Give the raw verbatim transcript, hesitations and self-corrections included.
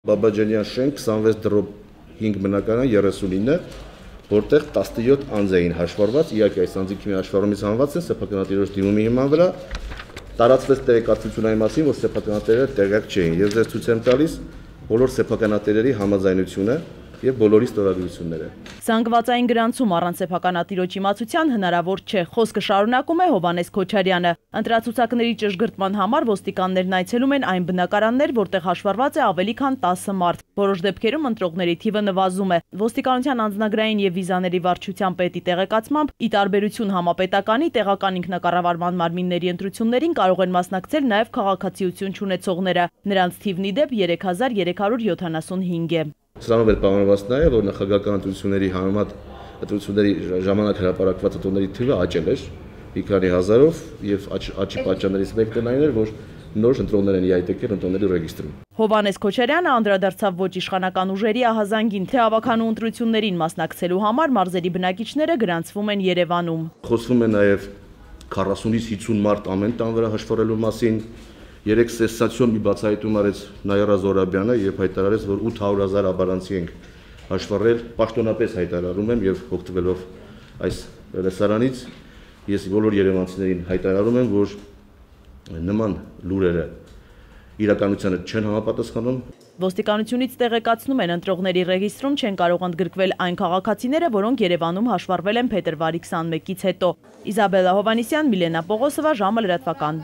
Բաբաջանյան շենք քսանվեց դրոպ հինգ բնակարան երեսունինը, որտեղ տասնյոթ անձ էին հաշվառված, իհարկե այս անձինք մի հաշվառումից հանված են սեփականատիրոջ դիմումի հիման վրա, տարածվեց տեղեկատվություն այն մասին, որ սեփականատերերը տեղյակ չէին, եւ ձեզ ցույց եմ տալիս բոլոր սեփականատերերի համաձայնությունը եւ բոլորի ստորագրությունները։ Զանգվածային գրանցում առանց սեփականատիրոջ իմացության հնարավոր չէ, խոսքը շարունակում է Հովհաննես Քոչարյանը։ Ընտրացուցակների ճշգրտման համար ոստիկաններն այցելում են այն բնակարաններ, որտեղ հաշվառված է ավելի քան տասը մարդ։ Որոշ դեպքերում ընտրողների թիվը նվազում է։ Ոստիկանության անձնագրային եւ վիզաների վարչության պետի տեղեկացմամբ, ի տարբերություն համապետականի, տեղական ինքնակառավարման մարմինների ընտրություններին կարող են մասնակցել նաեւ քաղաքացիություն չունեցողները։ Նրանց թիվն ի դեպ երեք հազար երեք հարյուր յոթանասունհինգ է։ Սրանով էլ պայմանավորված նաև, որ նախագահական ընտրությունների համեմատ ընտրությունների ժամանակ հրապարակված ընտրողների թիվը աճել էր մի քանի հազարով եւ աճի պատճառներից մեկն այն էր, որ նոր ընտրողներ են իհայտ եկել ընտրողների ռեգիստրում։ Հովհաննես Քոչարյանը անդրադարձավ ոչ իշխանական ուժերի ահազանգին, թե ավականու ընտրություններին մասնակցելու համար մարզերի բնակիչները գրանցվում են Երևանում։ Խոսվում է նաև քառասունից հիսուն մարդ ամեն տան վրա հաշվառելու մասին։ Երեք սենսացիոն մի բացահայտում արեց Նաիրա Զոհրաբյանը եւ հայտարարեց, որ ութ հարյուր հազար աբարանցի ենք հաշվառել, պաշտոնապես հայտարարում եմ եւ օգտվելով այս լսարանից ես բոլոր երևանցիներին հայտարարում եմ, որ նման լուրերը իրականությանը չեն համապատասխանում։ Ոստիկանությունից տեղեկացնում են, ընտրողների ռեգիստրում չեն կարող ընդգրկվել այն քաղաքացիները, որոնք Երևանում հաշվառվել են փետրվարի քսանմեկից հետո։ Իզաբելլա Հովհաննիսյան, Միլենա Պողոսովա, ժամը լրատվական։